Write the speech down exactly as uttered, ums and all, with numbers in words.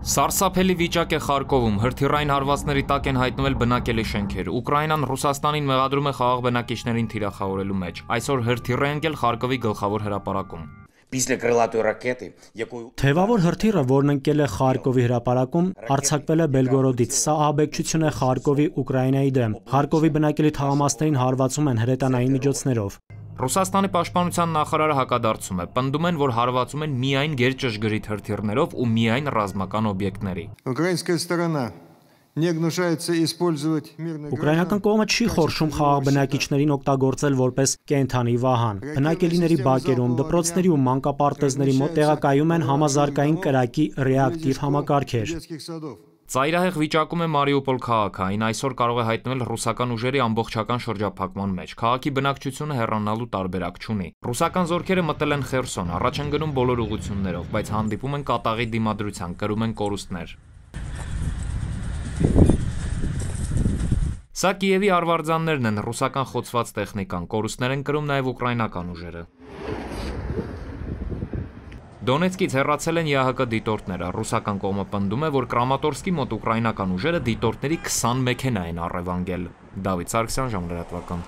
Սարսափելի վիճակ է Խարկովում, հրթիռային հարվածների տակ են հայտնվել բնակելի շենքեր։ Ուկրաինան Ռուսաստանին մեղադրում է խաղաղ բնակիչներին թիրախավորելու մեջ։ Այսօր հրթիռ է ընկել Խարկովի գլխավոր հրապարակում։ Թևավոր հրթիռը, որն ընկել է Խարկովի հրապարակում, արձակվել է Բելգորոդից։ Սա ահաբեկչություն է Խարկովի Ուկրաինայի դեմ։ Խարկովի բնակելի թաղամասերին հարվածում են հրետանային միջոցներով։ Ռուսաստանի պաշտպանության նախարարը հակադարձում է, պնդում են, որ հարվածում են միայն գերճշգրիտ հրթիռներով ու միայն ռազմական օբյեկտների։ Ուկրաինական կողմը չի խորշում խաղաղ բնակիչներին օգտագործել որպես կենդանի վահան։ Բնակելիների բակերում, դպրոցների ու մանկապարտեզների մոտ տեղակայում են համազարգային կրակի ռեակտիվ համակարգեր։ Ծայրահեղ վիճակում է Մարիուպոլ քաղաքը, այն այսօր կարող է հայտնվել ռուսական ուժերի ամբողջական շրջափակման մեջ։ Քաղաքի բնակչությունը հեռանալու տարբերակ չունի։ Ռուսական զորքերը մտել են Խերսոն, առաջ են գնում բոլոր ուղղություններով, բայց հանդիպում են կատաղի դիմադրության, կրում են կորուստներ։ Սա Կիևի արվարձաններն են, ռուսական խոցված տեխնիկան, կորուստներ են կրում նաև ուկրաինական ուժերը։ Դոնեցկից հեռացել են ԵԱՀԿ դիտորդները, ռուսական կողմը պնդում է, որ Կրամատորսկի մոտ ուկրաինական ուժերը դիտորդների քսան մեքենա են առևանգել։ Դավիթ Սարգսյան, ժամլրատվական։